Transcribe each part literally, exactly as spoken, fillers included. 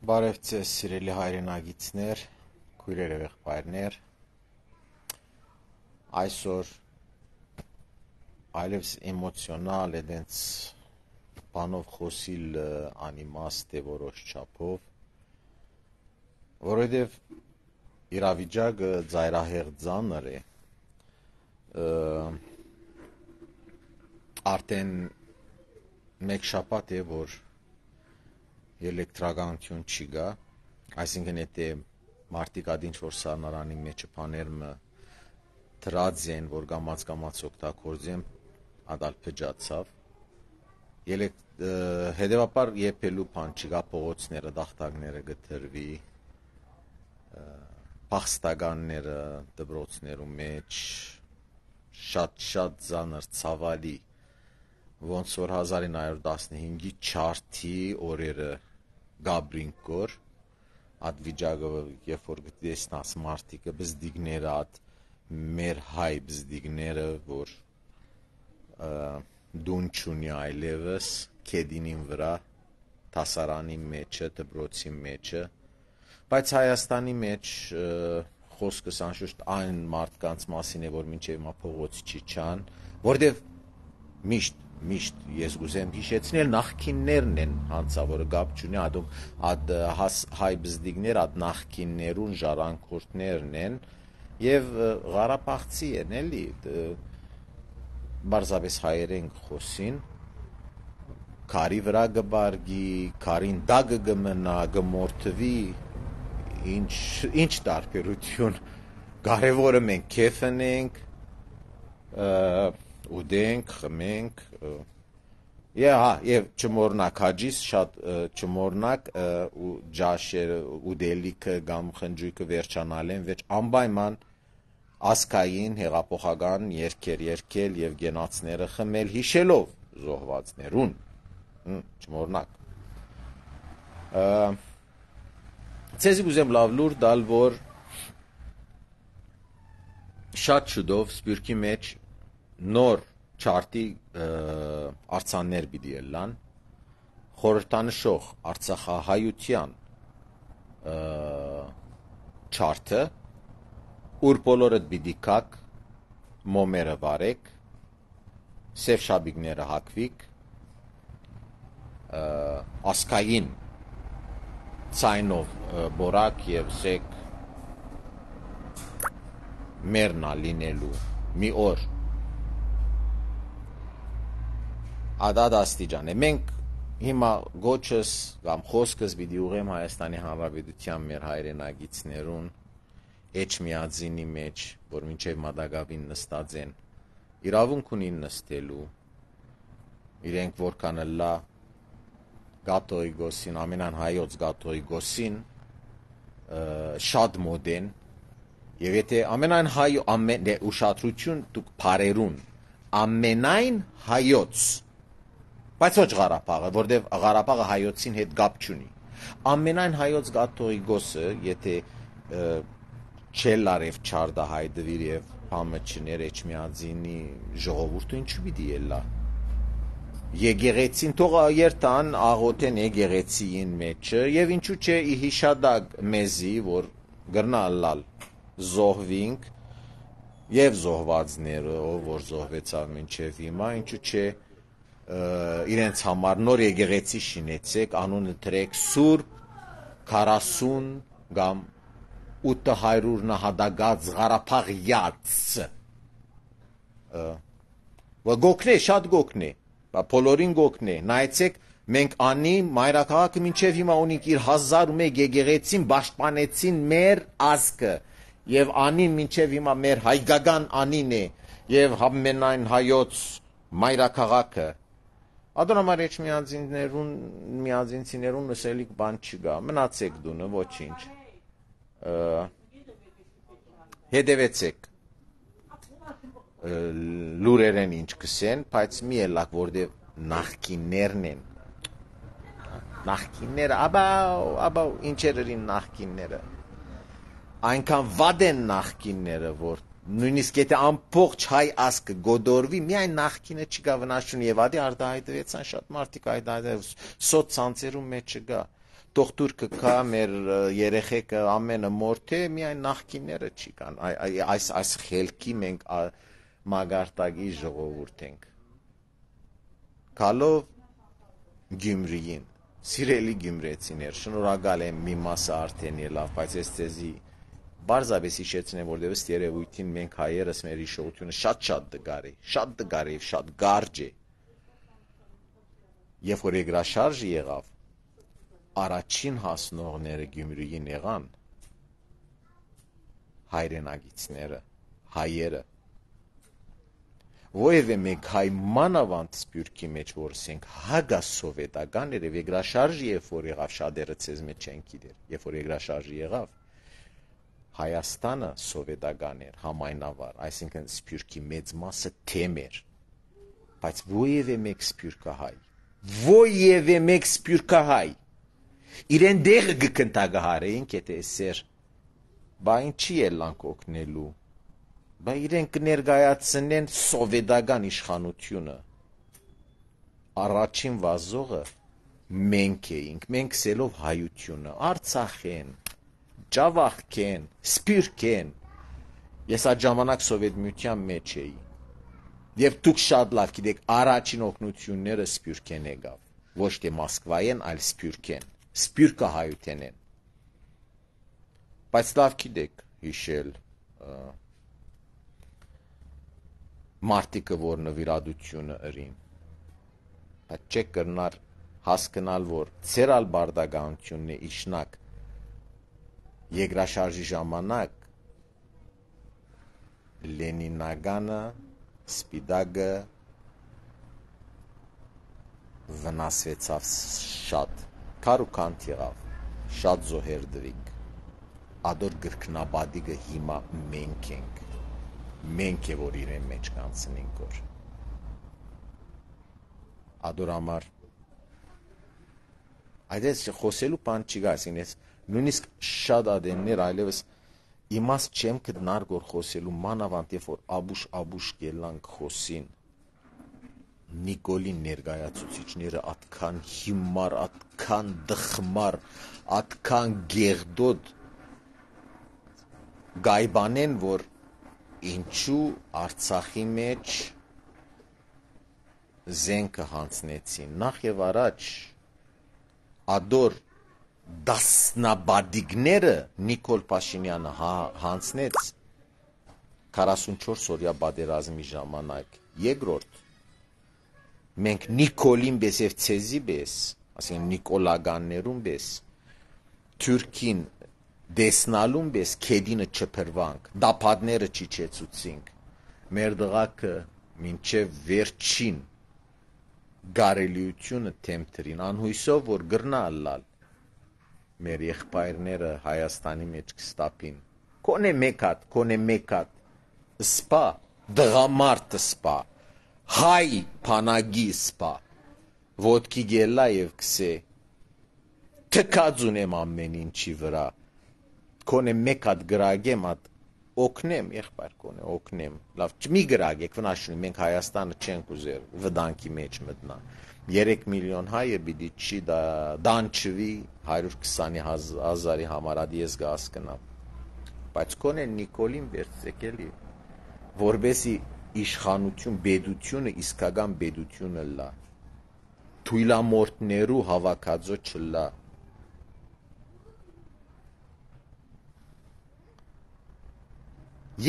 Բարև ձեզ սիրելի հայրենագիտներ, քույրեր եւ եղբայրներ։ Այսօր այլևս էմոցիոնալ է դենց բանով խոսիլ անիմաստ է որոշ չափով, որովհետեւ իրավիճակը ծայրահեղ ծանր է։ Արդեն մեկ շաբաթ է, որ էլեկտրականություն չի գա, այսինքն եթե մարդիկ ադինչ որ սառնարանի մեջը բաներմը դրած են, որ գամած-գամած օգտագործեն, ադալ փճացավ։ Հետևաբար եփելու բան չկա, փողոցները, դախտակները գտրվի, փախստականները դպրոցներու մեջ շատ-շատ ծանր ցավալի, ոնց որ հազար ինը հարյուր տասնհինգի չարթի օրերը Գաբրինկոր, այդ վիճակը, երբ որ գտեսնաս մարդիկը, բզդիգները, այդ մեր հայ բզդիգները, որ դուն չունի այլևս, կեդինին վրա, տասարանի մեջը, դպրոցի մեջը, բայց Հայաստանի մեջ խոսքս անշուշտ այն մարդկանց մասին է, որ մինչև հիմա փողոց չի չան, որտեվ միշտ Միշտ ես գուզեմ հիշեցնել նախքիններն են հանցավորը գապ չունի ադում ադ հայ բզդիգներ ադ նախքիններուն ժառանգորդներն են եւ Ղարաբաղցի են էլի բարձավես հայերեն խոսին քարի վրա գբարգի քարին դագը գմնա գմորթվի ինչ ինչ տարբերություն կարևորը մենք քեֆնենք ուդենք, խմենք, եւ չմորնակ հաջիս շատ չմորնակ ու ջաշերը ուդելիքը կամ խնջույքը վերջանալեն վեճ անպայման ասկային հեղափոխական երկեր երկել եւ գենացները խմել հիշելով զոհվածներուն չմորնակ ցեզի գուզեմ լավ լուր դալ որ շատ շուտով սպյուրքի մեջ նոր չարտի արցաններ պիտի ելան խորհրդանշող արցախահայության չարտը ուր բոլորդ պիտի կաք մոմերը վարեք սև շաբիկները հակվիկ ասկային ցայնով բորակ եւ սեք մերնա լինելու մի օր Ադադ աստիճան է, մենք հիմա գոչս կամ խոսքս պիտի ուղեմ Հայաստանի Հանրապետության մեր հայրենագիցներուն էջմիածինի մեջ, որ մինչև մադագավին նստած են, իրավունք ունին նստելու, իրենք որքան լա գատոյի գոսին, ամենան հայոց գատոյի գոսին, շատ մոդ են, և եթե ամենայն հայ, ուշադրություն դուք պարերուն, ամենայն հայոց, բայց ոչ Ղարաբաղը, որտև Ղարաբաղը հայոցին հետ գապ չունի։ Ամենայն հայոց գաթողի գոսը, եթե չելարև չարդա հայդվիր եւ համը չներ էջմիածինի ժողովուրդը ինչու պիտի ելա։ Եկեղեցին թող երթան աղոթեն եկեղեցիին մեջը եւ ինչու՞ չէ հիշադակ մեզի, որ գրնալալ զոհվինք եւ զոհվածները, ով որ զոհվեցավ մինչեւ հիմա, ինչու՞ չէ իրենց համար նոր եկեղեցի շինեցեք, անունը դրեք Սուրբ քառասուն կամ ութ հարյուր նահատակած Ղարաբաղյաց գոքնե, շատ գոքնե, բոլորին գոքնե, նայեցեք մենք անի մայրաքաղաքը մինչև հիմա ունենք իր հազար ու մեկ եկեղեցին պաշտպանեցին մեր ազգը եւ անին մինչև հիմա մեր հայկական անին է եւ ամենայն հայոց մայրաքաղաքը Ադոնամար էջմիածիններուն միածինցիներուն լսելիք բան չկա մնացեք դունը ոչինչ հետևեցեք լուրերեն ինչ կսեն բայց մի ելակ որտեվ նախկիններն են նախկինները աբաու աբաու ինչեր են նախկինները այնքան վատ են նախկինները որ նույնիսկ եթե ամբողջ հայ ազգը գոդորվի, միայն նախկինը չկա վնաս չունի եւ ադի արտահայտվեցան շատ մարդիկ այդ այդ սոցցանցերում մեջ չկա։ թող թուրքը կա մեր երեխեքը ամենը մորթե միայն նախկինները չի կան այս այս խելքի մենք մագարտակի ժողովուրդ ենք գալով Գյումրիին սիրելի գյումրեցիներ շնորհակալ եմ մի մասը արդեն ելավ բայց ես ցեզի բարձրապես հիշեցնեմ որտեղից երևույթին մենք հայերս մեր հիշողությունը շատ-շատ դգար է շատ դգար է շատ գարջ է Երբ որ երկրաշարժը եղավ, առաջին հասնողները Գյումրիին եղան հայրենագիցները, հայերը։ Որևէ մեկ հայ մանավանդ Սփյուռքի մեջ որսենք հագա սովետական էր երկրաշարժը երբ որ եղավ շատերը ցեզ մեջ չեն գիտեր, երբ որ երկրաշարժը եղավ Հայաստանը սովետական էր համայնավար, այսինքն Սփյուռքի մեծ մասը թեմ էր, բայց որևէ մեկ սփյուռքահայ Որևէ մեկ սփյուռքահայ իրեն դեղը գկնտագահարեին կետե սեր բա ինչի ելանք օգնելու բա իրեն կներկայացնեն սովետական իշխանությունը առաջին վազողը մենք էինք մենք սելով հայությունը Արցախեն Ջավախքեն Սփյուռքեն ես այդ ժամանակ սովետ միության մեջ էի Եվ դուք շատ լավ գիտեք, առաջին օգնությունները Սփյուռքեն եկավ, ոչ թե Մոսկվայեն, այլ Սփյուռքեն, Սփյուռքը հայութեն են։ Բայց լավ գիտեք հիշել մարտիկը, որ նվիրատությունը ըրին։ Բայց չեք կրնար հասկանալ, որ ցերալ բարդագանությունն է իշնակ երկրաշարժի ժամանակ Լենինագանը Սպիտակը վնասվեցավ շատ, քարուքանտ եղավ, շատ զոհեր դրիկ, ադոր գրքնաբադիկը հիմա մենք ենք, մենք է, որ իրեն մեջ կանցնենք որ, ադոր համար, այդ ես խոսելու պան չի գա, ես նույնիսկ շատ ադեններ այլևս Իմաստ չեմ գտնել գոր խոսելու մանավանդ երբ որ աբուշ-աբուշ գելանք խոսին Նիկոլի ներկայացուցիչները atkan հիմար, atkan դխմար, atkan գեղդոտ գայբանեն որ ինչու Արցախի մեջ զենքը հանցնեցին նախ եւ առաջ ադոր դասնաբադիկները Նիկոլ Փաշինյանը հանցնեց քառասունչորս օրյա պատերազմի ժամանակ երկրորդ մենք Նիկոլին պես եւ ցեզի պես ասենք Նիկոլագաններուն պես Թուրքին դեսնալուն պես քեդինը չփրվանք դապադները չիչեցուցինք մեր դղակը մինչեւ վերջին գարելիությունը թեմտրին անհույսով որ գրնալալ մեր եղբայրները Հայաստանի մեջ կստապին կոնե մեկ հատ կոնե մեկ հատ սպա դղամարտ սպա հայ փանագի սպա ոտքի գելա եւ կսե թքածուն եմ ամեն ինչի վրա կոնե մեկ հատ գրագեմ հատ օգնեմ եղբայր կոնե օգնեմ լավ մի գրագեք վնասունի մենք Հայաստանը չենք ուզեր վտանգի մեջ մտնա երեք միլիոն հայը պիտի չի դա դանչվի հարյուր քսան հազարի համար ադի ես գասկնամ բայց կոնե Նիկոլին վերցեկելի որբեսի իշխանություն բեդությունը իսկական բեդությունը լա թույլամորտներու հավաքածո չլա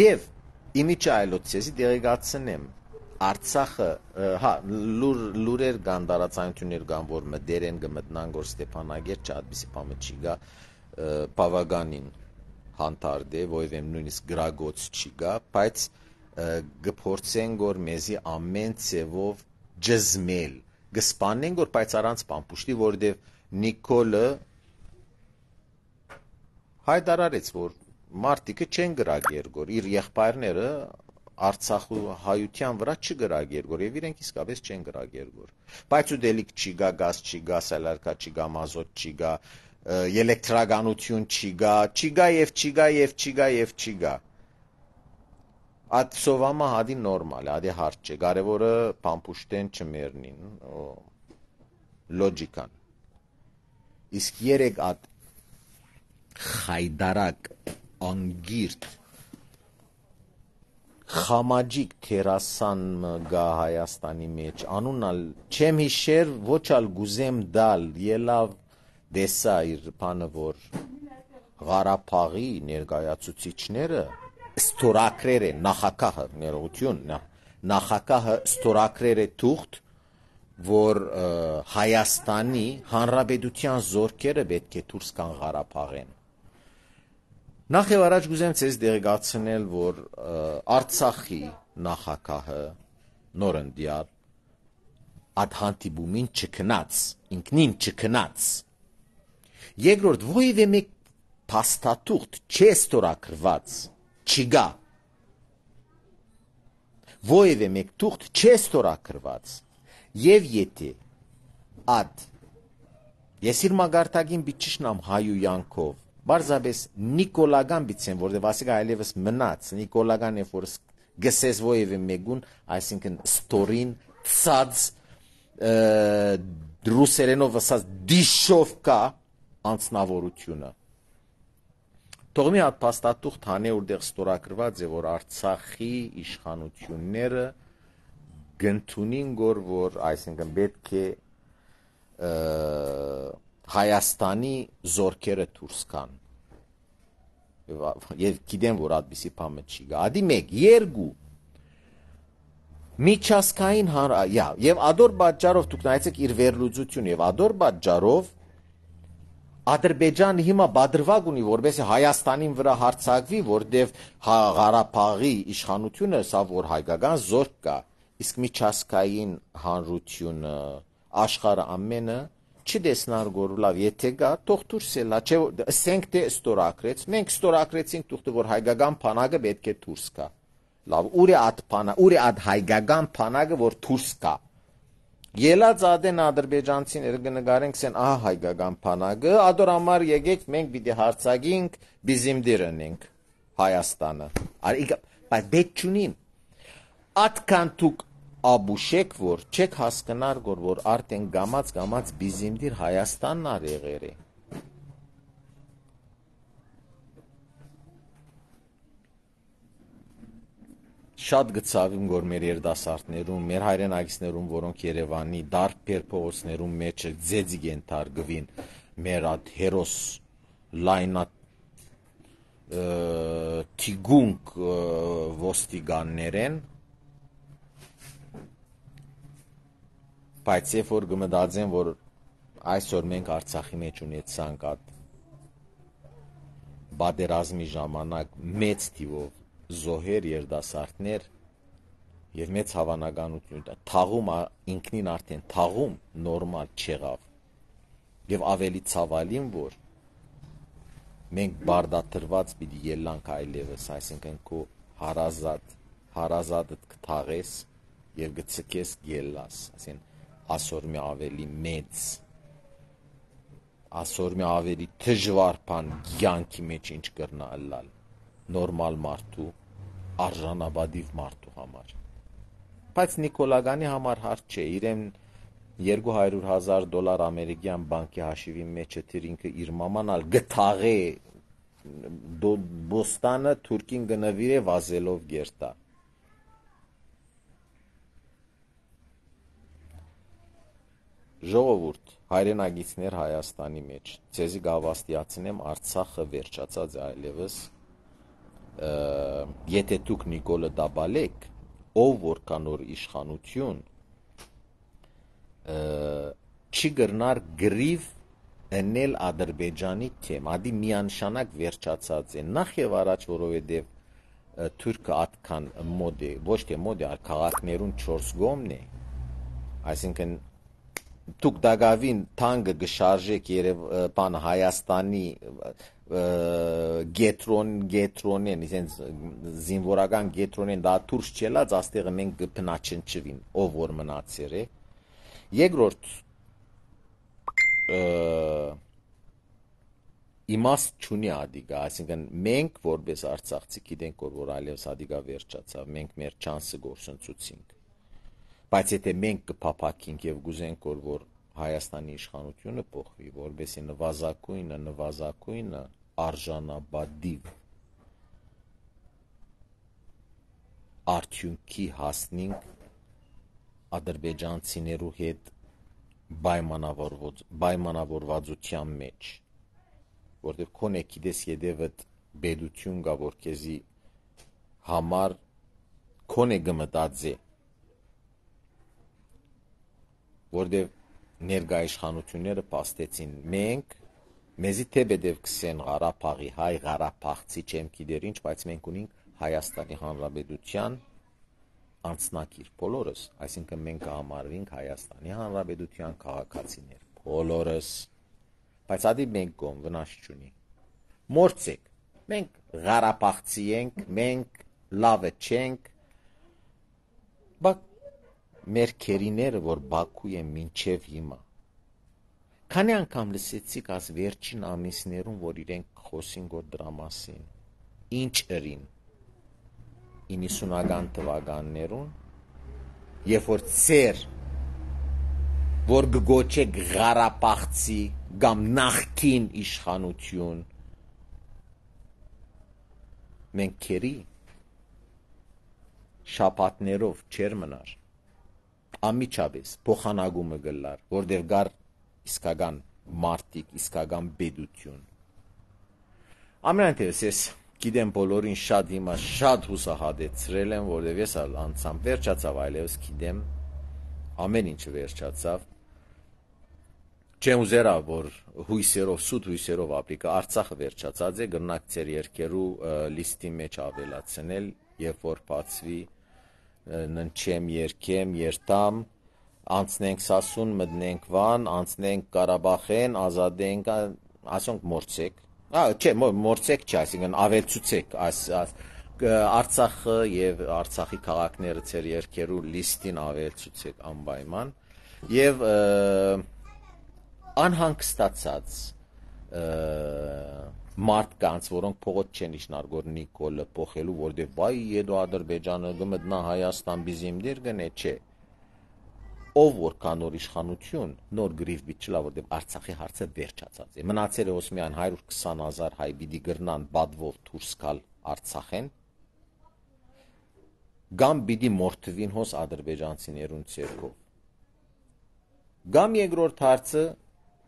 Եվ իմիջը այլոցեսի դեղեկացնեմ Արցախը հա լուր լուրեր կան դարացանություններ կան որ մդերեն կմտնան որ Ստեփանագեր չադբիսի բամը չի գա բավականին հանդարտ է որևէ նույնիսկ գրագոց չի գա բայց գփորձեն որ մեզի ամեն ցևով ջզմել գսպանեն որ բայց առանց պամպուշտի որովհետև Նիկոլը հայտարարեց որ մարտիկը չեն գրագեր որ իր եղբայրները Արցախու հայության վրա չգրագեր որ եւ իրենք իսկապես չեն գրագեր որ բայց ու դելիք չի գա գազ չի գա սալարկա չի գա մազոտ չի գա էլեկտրականություն չի գա չի գա եւ չի գա եւ չի գա եւ չի գա Այդ սովամա հադի նորմալ է հադի հարց չէ կարևորը պամպուշտեն չմեռնին լոջիկան իսկ երեք հատ խայդարակ անգիրտ խամաջիկ թերասան գա Հայաստանի մեջ անունալ չեմ հիշեր ոչ ալ գուզեմ դալ ելավ դեսա իր բանը որ Ղարաբաղի ներկայացուցիչները ստորակրեր են նախագահը ներողություն նախագահը ստորակրեր է թուղթ որ Հայաստանի Հանրապետության զորքերը պետք է դուրս գան Ղարաբաղեն Նախ եւ առաջ գուզեմ ցեզ դերգացնել, որ Արցախի նախագահը նորընդյալ այդ հանդիպումին չքնած, ինքնին չքնած։ Երկրորդ ովևէ մեկ փաստաթուղթ չէ ստորագրված, չգա։ Ովևէ մեկ թուղթ չէ ստորագրված։ Եվ եթե այդ ես իր մագարտագին բիչիշնամ հայույանքով Բարձաբես Նիկոլագան բիցեն, որտեղ ասիկա այլևս մնաց, Նիկոլագան է, որ գսես ովևէ մեկուն, այսինքն ստորին, ցած, ռուսերենով ասած դիշովկա անձնավորությունը։ Թողմի հատ փաստաթուղթ հանե որտեղ ստորագրված է, որ Արցախի իշխանությունները գնդունին գոր, որ այսինքն պետք է Հայաստանի զորքերը դուրս գան։ Եվ գիտեմ, որ այդպիսի բանը չի գա։ Ադի մեկ, երկու միջազգային եւ ադոր պատճառով դուք նայեցեք իր վերլուծությունը եւ ադոր պատճառով Ադրբեջանը հիմա բادرվակ ունի, որովհետեւ Հայաստանին վրա հարձակվի, որտեղ Ղարաբաղի իշխանությունը սա որ հայկական զորք կա, իսկ միջազգային հանրությունը աշխարհը ամենը չդեսնար գոր լավ եթե գա թող դուրս էլա չէ ասենք թե ստորակրեց մենք ստորակրեցինք թուղթը որ հայկական բանակը պետք է դուրս գա լավ ուր է այդ բանը ուր է այդ հայկական բանակը որ դուրս գա ելած ադեն ադրբեջանցիները կնկարենք սեն ահա հայկական բանակը ադոր համար եկեք մենք պիտի հարցակինք բիզիմդիր ընենք Հայաստանը արի բայց պետք չունին այդքան դուք Աբուշեք որ չեք հասկնար գոր որ արդեն գամած գամած բիզիմդիր Հայաստանն ար եղեր է Շատ գծավիմ գոր մեր երդասարտներում մեր հայրենագիցներում որոնք Երևանի դարբեր փողոցներում մեջ ձեձիգ են թարգվին մեր այդ հերոս լայնատ թիգունք ոստիգաններեն Բայց երբ որ գմդածեն, որ այսօր մենք Արցախի մեջ ունեցանք այդ բادرազմի ժամանակ մեծ թիվով զոհեր երդասարտներ եւ մեծ հավանականություն թաղում ինքնին արդեն թաղում նորմալ չեղավ եւ ավելի ցավալին որ մենք բարդատրված պիտի ելանք այլևս այսինքն քո հարազատ հարազատդ կթաղես եւ գցկես գելաս այսին Ասոր մի ավելի մեծ, ասոր մի ավելի դժվար բան յանքի մեջ ինչ կրնա ըլլալ, նորմալ մարդու, արժանաբադիվ մարդու համար։ Բայց Նիկոլագանի համար հարց չէ, իրեն երկու հարյուր հազար դոլար ամերիկյան բանկի հաշիվի մեջ էր ինքը իր մաման ալ գթաղե բոստանը թուրքին գնվիրե վազելով գերտա։ Ժողովուրդ, հայրենագիցներ Հայաստանի մեջ, ձեզի գավաստիացնեմ Արցախը վերջացած է այլևս, եթե դուք Նիկոլը դաբալեք, ով որքան որ իշխանություն, չի գրնար գրիվ ընել Ադրբեջանի թեմ, ադի միանշանակ վերջացած է, նախ եւ առաջ որովհետեւ թուրքը այդքան մոդ է, ոչ թե մոդ է, այլ քաղաքներուն չորս գոմն է, այսինքն Դուք դագավին թանկը գշարժեք երև բան Հայաստանի գետրոն գետրոնեն իսենց զինվորական գետրոնեն դա դուրս չելած աստեղը մենք կփնաչնչվին ով որ մնացեր է երկրորդ իմաստ չունի ադիգա այսինքն մենք որպես արցախցի գիտենք որ այլևս ադիգա վերջացավ մենք մեր չանսը գործընծուցինք Բայց եթե մենք կփափակենք եւ գուզենք որ որ Հայաստանի իշխանությունը փոխվի, որովհետեւ նվազագույնը, նվազագույնը արժանաբադիվ արդյունքի հասնենք ադրբեջանցիներու հետ պայմանավորվածության մեջ, որտեղ քոնե գիտես յետևդ բեդություն գա, որ քեզի համար քոնե գմտածե, որտեղ ներկա իշխանությունները փաստեցին մենք մեզի թե բեդև կսեն Ղարաբաղի հայ Ղարաբաղցի չեմ գիտեր ինչ, բայց մենք ունենք Հայաստանի Հանրապետության անձնակիր բոլորս, այսինքն մենք կհամարվենք Հայաստանի Հանրապետության քաղաքացիներ բոլորս, բայց ադի մենք կոմ վնաս չունի, մորցեք, մենք Ղարաբաղցի ենք, մենք լավը չենք, բայց մեր քերիները, որ Բաքու են մինչև հիմա, քանի անգամ լսեցիք աս վերջին ամիսներում, որ իրենք խոսին գոր դրա մասին, ինչ ըրին իննսունական թվականներուն, երբ որ ծեր, որ գգոչեք Ղարաբաղցի կամ նախկին իշխանություն, մենք քերի շապատներով չեր մնար, ամիջապես փոխանակումը գլար, որտեղ գար իսկական մարտիկ, իսկական բեդություն։ Ամենայն ես գիտեմ բոլորին շատ հիմա շատ հուսահատեցրել եմ, որտեղ ես անցամ վերջացավ, այլևս գիտեմ ամեն ինչը վերջացավ։ Չեմ ուզերա, որ հույսերով, սուտ հույսերով ապրիկա Արցախը վերջացած է, գրնակ ծեր երկերու լիստի մեջ ավելացնել, երբ որ բացվի ննչեմ, երկեմ, երտամ, անցնենք Սասուն, մտնենք Վան, անցնենք Ղարաբաղեն, ազատենք, ասոնք մորցեք, չէ, մորցեք չէ, այսինքն ավելցուցեք Արցախը եւ Արցախի քաղաքները ծեր երկերու լիստին ավելցուցեք անպայման եւ անհանգստացած մարդկանց, որոնք փողոց չեն իշնար գոր Նիկոլը փոխելու, որտեղ բայ եդո Ադրբեջանը գմտնա Հայաստան բիզիմդեր գնե, չէ։ Ով որ կա նոր իշխանություն, նոր գրիվ բիչլա, որտեղ Արցախի հարցը վերջացած է։ Մնացել է ոսմյան հարյուր քսան հազար հայ պիտի գրնան բադվով դուրս գալ Արցախեն, կամ պիտի մորթվին հոս ադրբեջանցիներուն ցերկով։ Կամ երկրորդ հարցը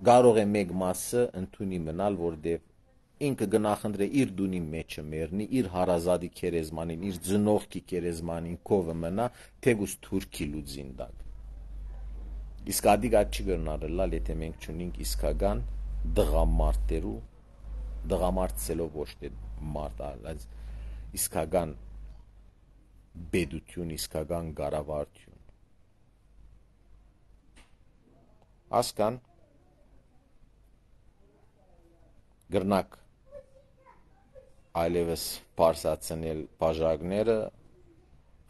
կարող է մեկ մասը ընդունի մնալ, որտեղ ինքը գնախնդրե իր դունի մեջը մեռնի, իր հարազատի քերեզմանին, իր ծնողքի քերեզմանին կովը մնա, թեգուս թուրքի լուծին դակ։ Իսկ ադիգա չի գրնարելալ, եթե մենք չունենք իսկական դղամարտերու, դղամարտցելով ոչ թե մարդ, այլ իսկական բեդություն, իսկական գարավարություն։ Ասկան գրնակ այլևս պարսացնել բաժակները,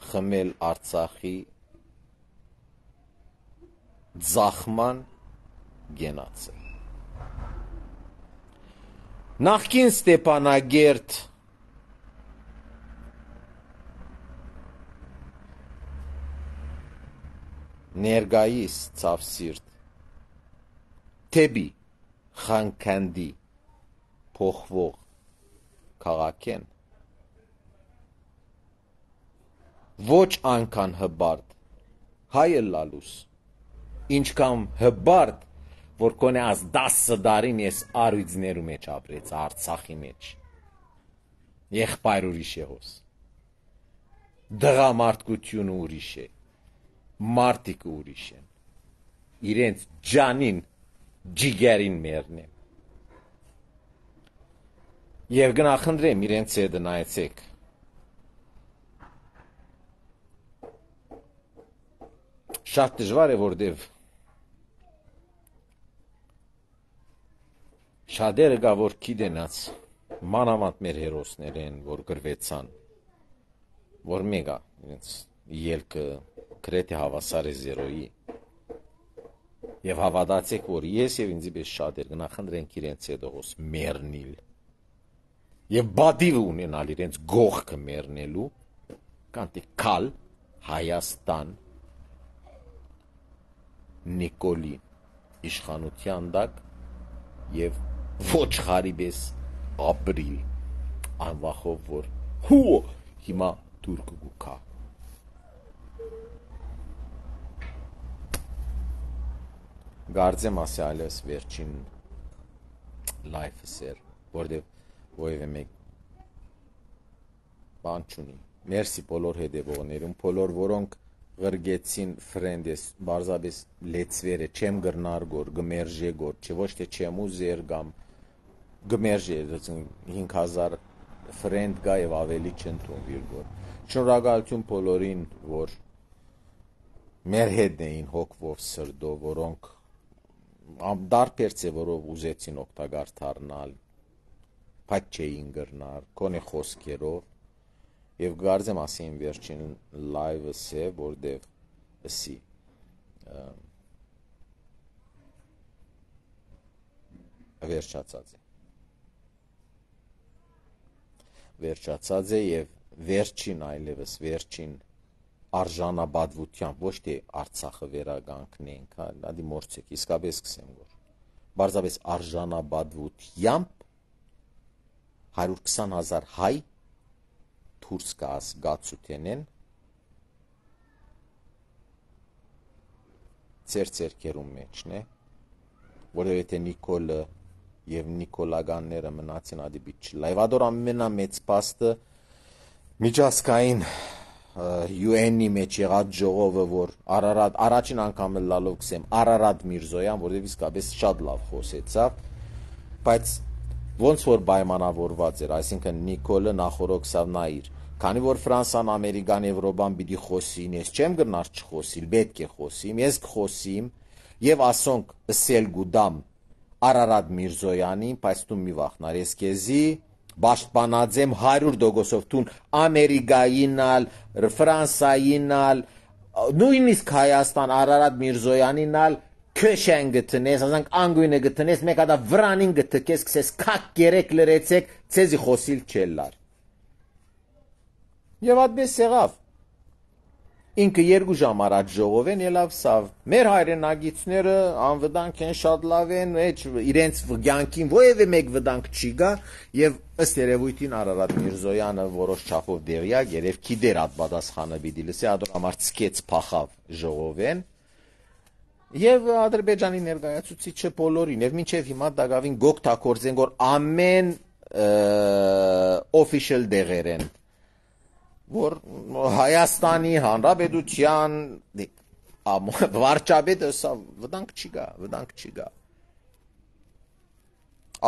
խմել Արցախի ձախման գենացը։ Նախկին Ստեփանագերտ ներգայիս ցավսիրտ թեբի խանքանդի փոխվող քաղաքեն ոչ անկան հբարդ հայը լալուս ինչքան հբարդ որ կոնե աս դասը դարին ես արույցներու մեջ ապրեց Արցախի մեջ եղբայր ուրիշ է հոս դղամարտկությունը ուրիշ է մարտիկը ուրիշ են իրենց ջանին ջիգերին մերնեն եւ գնախնդրեմ իրենց հետ նայեցեք շատ դժվար է որտեվ շատերը գա որ գիտենաց մանավանդ մեր հերոսներ են որ գրվեցան որ մեգա իրենց ելքը գրեթե հավասար է զերոյի եւ հավատացեք որ ես եւ ինձի պես շատեր գնախնդրենք իրենց հետ ողոս մեռնիլ եւ բադիվ ունենալ իրենց գողքը մեռնելու կանտի կալ Հայաստան Նիկոլի իշխանության դակ եւ ոչ խարիբես ապրիլ անվախով որ հու հիմա թուրք գուքա գարձեմ ասի այլևս վերջին լայֆս էր որտեվ ովևէ մեկ բան չունի մերսի բոլոր հետևողներուն բոլոր որոնք ղրգեցին ֆրենդես բարձաբես լեցվերը չեմ գրնար գոր գմերժե գոր չէ ոչ թե չեմ ուզեր կամ գմերժե հինգ հազար ֆրենդ գա եւ ավելի չընդունվիր գոր շնորհակալություն բոլորին որ մեր հետ էին հոգվով սրդով որոնք դարբեր ձևով ուզեցին օգտակար դառնալ բայց չէին գրնար կոնե խոսքերով եւ գարձեմ ասին վերջին լայվս է որտեվ ասի վերջացած է վերջացած է եւ վերջին այլևս վերջին արժանաբադվությամբ ոչ թե Արցախը վերագանքնենք հա դի մորցեք իսկապես սկսեմ որ բարձրապես արժանաբադվությամբ հարյուր քսան հազար հայ դուրս գաս գացութենեն ծեր ծերքերում մեջն է որովհետեւ եթե Նիկոլը եւ Նիկոլագանները մնացին ադիբիչ լայվադոր ամենամեծ փաստը միջազգային յու են-ի մեջ եղած ժողովը որ Արարատ առաջին անգամ լալով գսեմ Արարատ Միրզոյան որովհետեւ իսկապես շատ լավ խոսեցավ բայց ոնց որ պայմանավորված էր այսինքն Նիկոլը նախորոքսավ նայիր քանի որ Ֆրանսան Ամերիկան Եվրոպան պիտի խոսին ես չեմ գնար չխոսիլ պետք է խոսիմ ես կխոսիմ եւ ասոնք ըսել գուդամ Արարատ Միրզոյանին բայց դու մի վախնար ես քեզի պաշտպանածեմ հարյուր տոկոսով տուն Ամերիկայինալ Ֆրանսայինալ նույնիսկ Հայաստան Արարատ Միրզոյանինալ քեշեն գտնես ասենք անգույնը գտնես մեկ հատ վրանին գտկես քսես քակ գերեք լրեցեք ցեզի խոսիլ չելար եւ այդպես եղավ ինքը երկու ժամ առաջ ժողովեն ելավ սավ մեր հայրենագիցները անվտանգ են շատ լավ են էջ իրենց վգյանքին ովևէ մեկ վտանգ չի գա եւ ըստ երևույթին Արարատ Միրզոյանը որոշ չափով դեղյակ երև գիտեր այդ պատասխանը պիտի լսի ադոր համար ցկեց փախավ ժողովեն եւ Ադրբեջանի ներկայացուցիչը բոլորին եւ մինչեւ հիմա դակավին գոկ թակորձեն որ ամեն official դեղեր են որ Հայաստանի Հանրապետության վարչապետը սա վտանգ չի գա վտանգ չի գա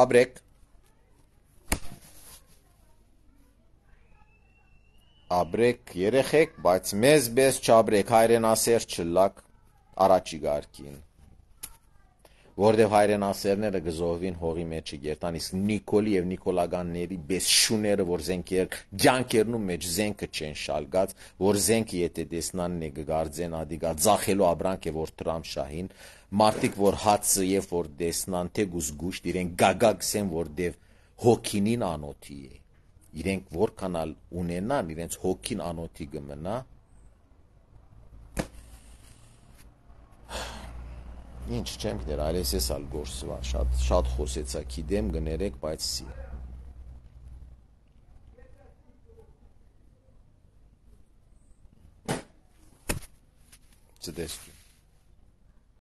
Աբրեք Աբրեք երեխեք բայց մեզ բես չաբրեք հայրենասեր չլակ առաջի գարկին որտեվ հայրենասերները գզովին հողի մեջը գերտան իսկ Նիկոլի եւ Նիկոլագանների բես շուները որ զենքեր ջանկերնում մեջ զենքը չեն շալգած որ զենքը եթե տեսնան նե գարձեն ադիգա ձախելու աբրանք է որ Տրամփ շահին մարտիկ որ հացը եւ որ տեսնան թե գուսգուշտ իրեն գագագսեն որտեվ հոգինին անոթի է իրենք որքանալ ունենան իրենց հոգին անոթի գմնա Ինչ չեմ գիտեր, այլես ես ալ գործվա, շատ, շատ խոսեցա կիդեմ գներեք, բայց սի։ Չտեսկու։